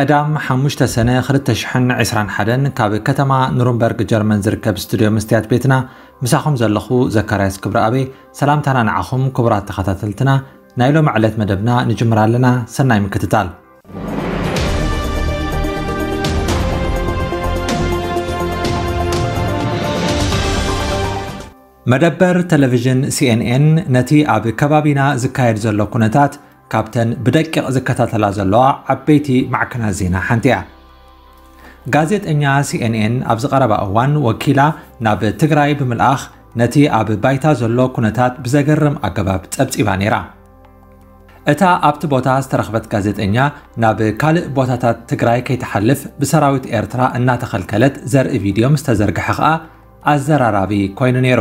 ቀዳም ሓሙሽተ ሰነ ክልተ ሽሕን ዕስራን ሓደን ካብ ከተማ ኑርንበርግ ጀርመን ዝርከብ ስቱድዮ መስትያት ቤትና ምሳኹም ዘለኹ ዘካርያስ ክብረኣበይ ሰላምታና ንዓኹም ክቡራት ተኸታተልትና ናይ ሎሚ ዕለት መደብና ንጅምር ኣለና። ሰናይ ምክትታል። መደበር ቴሌቪዥን ሲኤንኤን ነቲ ኣብ ከባቢና ዝካየድ ዘሎ ኩነታት ካብተን ብደቂቕ ዝከታተላ ዘለዋ ዓበይቲ ማዕከናት ዜና ሓንቲ እያ። ጋዜጠኛ ሲኤንኤን ኣብዚ ቀረባ እዋን ወኪላ ናብ ትግራይ ብምልኣኽ ነቲ ኣብ ባይታ ዘሎ ኩነታት ብዘገርም ኣገባብ ጸብጺባ ነይራ። እታ ኣብቲ ቦታ ዝተረኽበት ጋዜጠኛ ናብ ካልእ ቦታታት ትግራይ ከይትሓልፍ ብሰራዊት ኤርትራ እናተኸልከለት ዘርኢ ቪድዮ ምስ ተዘርግሐ ኸኣ ኣዘራራቢ ኮይኑ ነይሩ።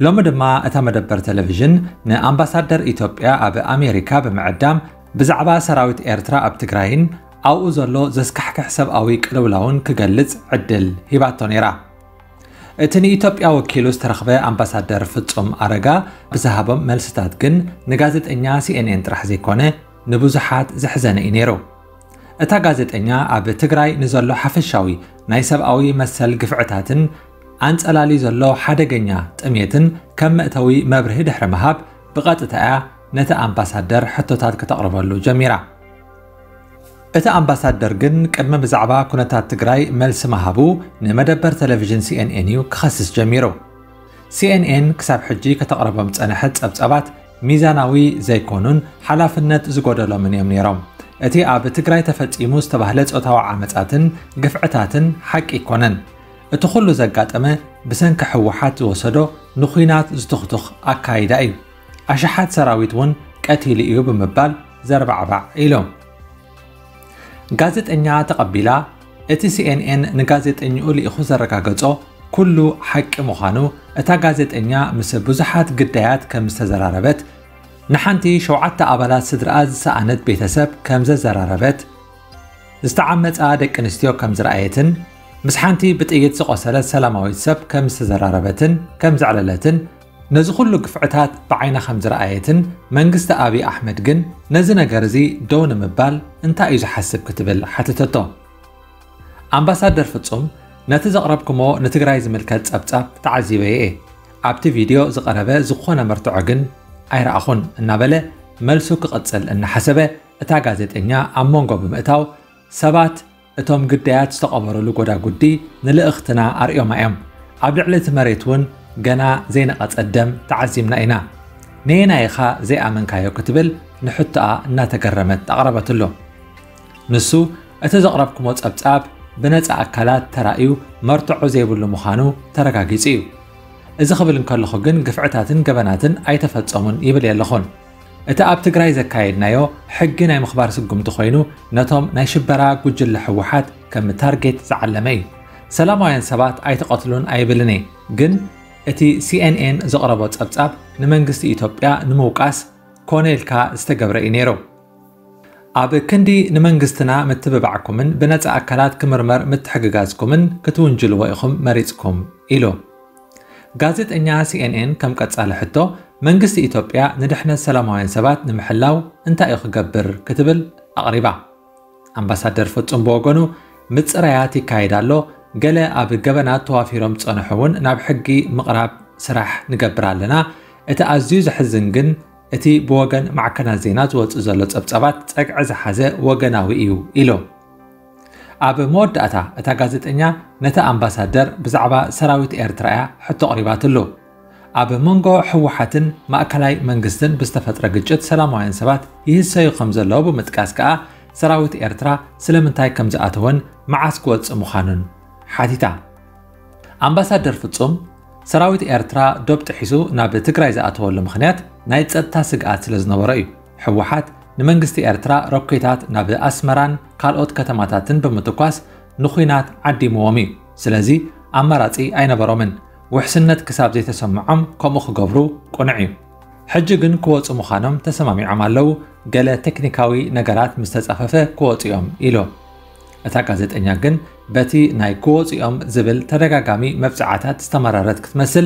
ሎሚ ድማ እታ መደበር ቴሌቪዥን ንኣምባሳደር ኢትዮጵያ ኣብ ኣሜሪካ ብምዕዳም ብዛዕባ ሰራዊት ኤርትራ ኣብ ትግራይን ኣብኡ ዘሎ ዘስካሕክሕ ሰብኣዊ ቅልውላውን ክገልጽ ዕድል ሂባቶ ነይራ። እቲ ንኢትዮጵያ ወኪሉ ዝተረኽበ ኣምባሳደር ፍጹም ኣረጋ ብዝሃቦም መልስታት ግን ንጋዜጠኛ ሲኤንኤን ጥራሕ ዘይኮነ ንብዙሓት ዘሕዘነ እዩ ነይሩ። እታ ጋዜጠኛ ኣብ ትግራይ ንዘሎ ሓፈሻዊ ናይ ሰብኣዊ መሰል ግፍዕታትን ኣንጸላሊ ዘሎ ሓደገኛ ጥሜትን ከም መእተዊ መብርሂ ድሕሪ ምሃብ ብቐጥታ እያ ነቲ ኣምባሳደር ሕቶታት ከተቕርበሉ ጀሚራ። እቲ ኣምባሳደር ግን ቅድሚ ብዛዕባ ኩነታት ትግራይ መልሲ ምሃቡ ንመደበር ቴሌቪዥን ሲኤንኤን እዩ ክኸስስ ጀሚሩ። ሲኤንኤን ክሳብ ሕጂ ከተቕርቦም ዝጸንሐት ጸብጻባት ሚዛናዊ ዘይኮኑን ሓላፍነት ዝጎደሎምን እዮም ነይሮም። እቲ ኣብ ትግራይ ተፈጺሙ ዝተባህለ ጾታዊ ዓመጻትን ግፍዕታትን ሓቂ ኣይኮነን። እቲ ኩሉ ዘጋጠመ ብሰንኪ ህወሓት ዝወሰዶ ንኹናት ዝቱኽቱኽ ኣካይዳ እዩ። ኣሽሓት ሰራዊት እውን ቀቲሉ እዩ ብምባል ዘርባዕባዕ ኢሉ። ጋዜጠኛ ተቐቢላ እቲ ሲኤንኤን ንጋዜጠኝኡ ልኢኹ ዘረጋገጾ ኩሉ ሓቂ ምዃኑ፣ እታ ጋዜጠኛ ምስ ብዙሓት ግዳያት ከም ዝተዘራረበት፣ ንሓንቲ ሸውዓተ ኣባላት ስድራኣ ዝሰኣነት ቤተሰብ ከም ዘዘራረበት፣ ዝተዓመጻ ደቂ ኣንስትዮ ከም ዝረኣየትን ምስ ሓንቲ ብጥይት ዝቖሰለት ሰላማዊት ሰብ ከም ዝተዘራረበትን ከም ዘዕለለትን፣ ነዚ ኩሉ ግፍዕታት ብዓይና ከም ዝረኣየትን መንግስቲ ኣብይ ኣሕመድ ግን ነዚ ነገር እዚ ደው ንምባል እንታይ እዩ ዝሓስብ ክትብል ሓተተቶ። ኣምባሳደር ፍጹም ነቲ ዘቕረብኩሞ ንትግራይ ዝምልከት ጸብጻብ ተዓዚበ እየ። ኣብቲ ቪድዮ ዝቐረበ ዝኾነ መርትዖ ግን ኣይረኣኹን እናበለ መልሱ ክቕጽል እናሓሰበ እታ ጋዜጠኛ ኣብ መንጎ ብምእታው ሰባት እቶም ግዳያት ዝተቐበሩሉ ጎዳጉዲ ንልእኽትና ኣርእዮማ እዮም። ኣብ ልዕሊ እቲ መሬት እውን ገና ዘይነቐጸ ደም ተዓዚብና ኢና። ነየናይ ኢኻ ዘይኣመንካዮ ክትብል ንሕቶኣ እናተገረመት ኣቕረበትሉ። ንሱ እቲ ዘቕረብኩሞ ጸብጻብ ብነጻ ኣካላት ተራእዩ መርትዖ ዘይብሉ ምዃኑ ተረጋጊጹ እዩ። እዚ ክብል እንከለኹ ግን ግፍዕታትን ገበናትን ኣይተፈጸሙን ይብል የለኹን። እቲ ኣብ ትግራይ ዘካየድናዮ ሕጊ ናይ ምኽባር ስጉምቲ ኮይኑ ነቶም ናይ ሽበራ ጉጅለ ህወሓት ከም ታርጌት ዝዓለመ እዩ። ሰላማውያን ሰባት ኣይትቐትሉን ኣይብልን እየ፣ ግን እቲ ሲኤንኤን ዘቕረቦ ጸብጻብ ንመንግስቲ ኢትዮጵያ ንምውቃስ ኮነ ኢልካ ዝተገብረ እዩ ነይሩ። ኣብ ክንዲ ንመንግስትና ምትብባዕኩምን ብነጻ ኣካላት ክምርመር ምትሕግጋዝኩምን ክትውንጅልዎ ኢኹም መሪጽኩም ኢሉ። ጋዜጠኛ ሲኤንኤን ከም ቀጻሊ ሕቶ መንግስቲ ኢትዮጵያ ንድሕነት ሰላማውያን ሰባት ንምሕላው እንታይ እዩ ክገብር ክትብል ኣቕሪባ። ኣምባሳደር ፍጹም ብወገኑ ምጽራያት ይካየድ ኣሎ፣ ገለ ኣብ ገበናት ተዋፊሮም ዝጸንሑ እውን ናብ ሕጊ ምቕራብ ስራሕ ንገብር ኣለና። እቲ ኣዝዩ ዘሕዝን ግን እቲ ብወገን ማዕከናት ዜና ዝወጽእ ዘሎ ጸብጻባት ጸግዒ ዝሓዘ ወገናዊ እዩ ኢሉ። ኣብ መወዳእታ እታ ጋዜጠኛ ነቲ ኣምባሳደር ብዛዕባ ሰራዊት ኤርትራ እያ ሕቶ ኣቕሪባትሉ። ኣብ መንጎ ህወሓትን ማእከላይ መንግስትን ብዝተፈጥረ ግጭት ሰላማውያን ሰባት ይህሰዩ ከም ዘለዉ ብምጥቃስ ከኣ ሰራዊት ኤርትራ ስለምንታይ ከም ዝኣተወን መዓስ ክወጽእ ምዃኑን ሓቲታ። ኣምባሳደር ፍጹም ሰራዊት ኤርትራ ዶብ ጥሒሱ ናብ ትግራይ ዝኣተወሉ ምኽንያት ናይ ጸጥታ ስግኣት ስለ ዝነበሮ እዩ። ህወሓት ንመንግስቲ ኤርትራ ሮኬታት ናብ ኣስመራን ካልኦት ከተማታትን ብምትኳስ ንኹናት ዓዲምዎም እዩ። ስለዚ ኣማራጺ ኣይነበሮምን። ውሕስነት ክሳብ ዘይተሰምዖም ከምኡ ክገብሩ ቅኑዕ እዩ። ሕጂ ግን ክወጹ ምዃኖም ተሰማሚዖም ኣለዉ። ገለ ቴክኒካዊ ነገራት ምስ ተጻፈፈ ክወጹ እዮም ኢሉ። እታ ጋዜጠኛ ግን በቲ ናይ ክወጹ እዮም ዝብል ተደጋጋሚ መብጽዓታት ዝተመረረት ክትመስል፣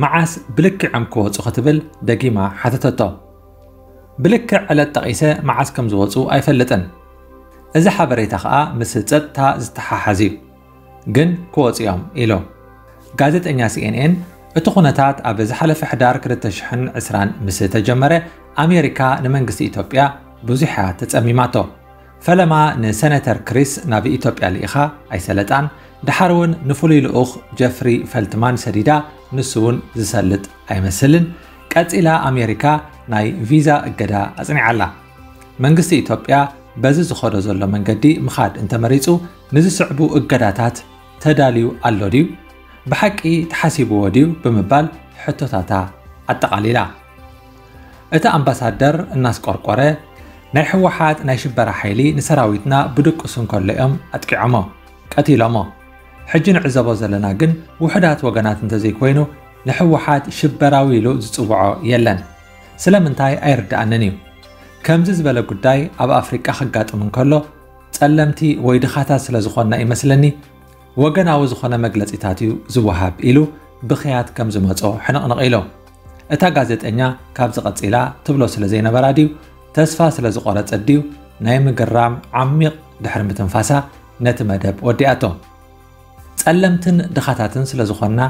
መዓስ ብልክዖም ክወጹ ክትብል ደጊማ ሓተተቶ። ብልክዕ ዕለት ጠቒሰ መዓስ ከም ዝወጹ ኣይፈልጥን። እዚ ሓበሬታ ከኣ ምስ ጸጥታ ዝተሓሓዝ እዩ፣ ግን ክወጹ እዮም ኢሉ። ጋዜጠኛ C N N እቲ ኩነታት ኣብ ዝሓለፈ ሕዳር ክልተ ሽሕን ዕስራን ምስ ተጀመረ ኣሜሪካ ንመንግስቲ ኢትዮጵያ ብዙሕ እያ ተጸሚማቶ። ፈለማ ንሰነተር ክሪስ ናብ ኢትዮጵያ ልኢኻ ኣይሰለጣን፣ ደሓር እውን ንፍሉይ ልኡኽ ጀፍሪ ፈልትማን ሰዲዳ፣ ንሱ እውን ዝሰልጥ ኣይመስልን። ቀጺላ ኣሜሪካ ናይ ቪዛ እገዳ ኣጽኒዓላ። መንግስቲ ኢትዮጵያ በዚ ዝኸዶ ዘሎ መንገዲ ምኻድ እንተመሪጹ ንዝስዕቡ እገዳታት ተዳልዩ ኣሎ ድዩ? ብሓቂ ተሓሲብዎ ድዩ? ብምባል ሕቶታታ ኣጠቓሊላ። እቲ ኣምባሳደር እናስቆርቆረ፣ ናይ ህወሓት ናይ ሽበራ ሓይሊ ንሰራዊትና ብድቁስ እንከሎ እዮም ኣጥቂዖሞ፣ ቀቲሎሞ። ሕጂ ንዕዘቦ ዘለና ግን ውሑዳት ወገናት እንተዘይኮይኑ ንህወሓት ሽበራዊ ኢሉ ዝጽውዖ የለን። ስለምንታይ ኣይርድኣንን እዩ። ከምዚ ዝበለ ጉዳይ ኣብ ኣፍሪቃ ከጋጥም እንከሎ ጸለምቲ ወይ ድኻታት ስለ ዝኾንና ይመስለኒ ወገናዊ ዝኾነ መግለጺታት እዩ ዝወሃብ ኢሉ ብኽያት ከም ዝመጾ ሕንቕንቕ ኢሉ። እታ ጋዜጠኛ ካብዚ ቀጺላ ትብሎ ስለ ዘይነበራ ድዩ ተስፋ ስለ ዝቖረጸት ድዩ ናይ ምግራም ዓሚቕ ድሕሪ ምትንፋሳ ነቲ መደብ ወዲኣቶ። ጸለምትን ድኻታትን ስለ ዝኾንና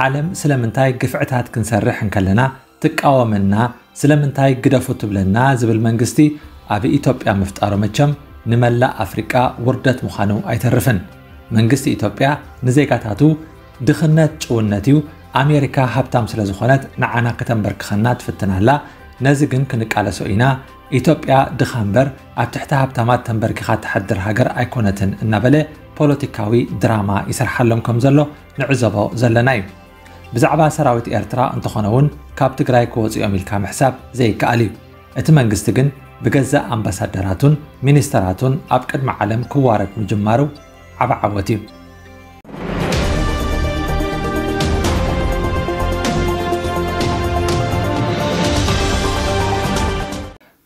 ዓለም ስለምንታይ ግፍዕታት ክንሰርሕ እንከለና ትቃወመና፣ ስለምንታይ ግደፉ ትብለና ዝብል መንግስቲ ኣብ ኢትዮጵያ ምፍጣሩ መቸም ንመላእ ኣፍሪቃ ውርደት ምዃኑ ኣይተርፍን። መንግስቲ ኢትዮጵያ ንዜጋታቱ ድኽነት ጭውነት እዩ፣ ኣሜሪካ ሃብታም ስለ ዝኾነት ንዓና ከተንበርክኸና ትፍትን ኣላ፣ ነዚ ግን ክንቃለሶ ኢና። ኢትዮጵያ ድኻ እምበር ኣብ ትሕቲ ሃብታማት ተንበርኪኻ ትሓድር ሃገር ኣይኮነትን እናበለ ፖለቲካዊ ድራማ ይሰርሓሎም ከም ዘሎ ንዕዘቦ ዘለና እዩ። ብዛዕባ ሰራዊት ኤርትራ እንተኾነ እውን ካብ ትግራይ ክወፁ እዮም ኢልካ ምሕሳብ ዘይከኣል እዩ። እቲ መንግስቲ ግን ብገዛእ ኣምባሳደራቱን ሚኒስተራቱን ኣብ ቅድሚ ዓለም ክዋረድ ምጅማሩ ዓቢ ዓወት እዩ።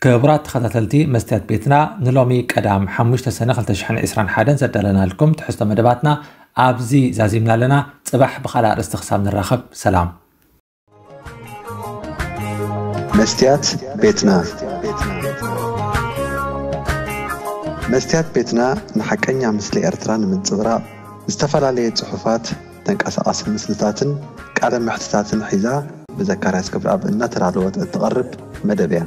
ክቡራት ተኸታተልቲ መስትያት ቤትና፣ ንሎሚ ቀዳም ሓሙሽተ ሰነ ክልተ ሽሕን ዕስራን ሓደን ዘዳለናልኩም ትሕዝቶ መደባትና ኣብዚ ዛዚምና ኣለና። ጽባሕ ብኻልእ ኣርእስቲ ክሳብ ንራኸብ፣ ሰላም። መስትያት ቤትና። መስትያት ቤትና ንሓቀኛ ምስሊ ኤርትራ ንምንጽብራቕ ዝተፈላለየ ጽሑፋት፣ ተንቀሳቓሲ ምስልታትን ቃለ መሕትታትን ሒዛ ብዘካርያስ ገብረኣብ እናተዳለወት እትቐርብ መደብ እያ።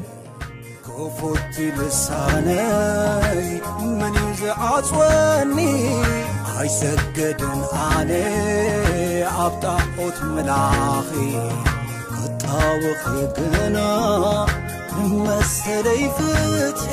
ክፉት ልሳነይ መን እዩ ዝዓጽወኒ? ኣይሰገድን ኣነ ኣብ ጣዖት ምላኺ ክጣወኺ ግና ንመሰለይ ፍትሒ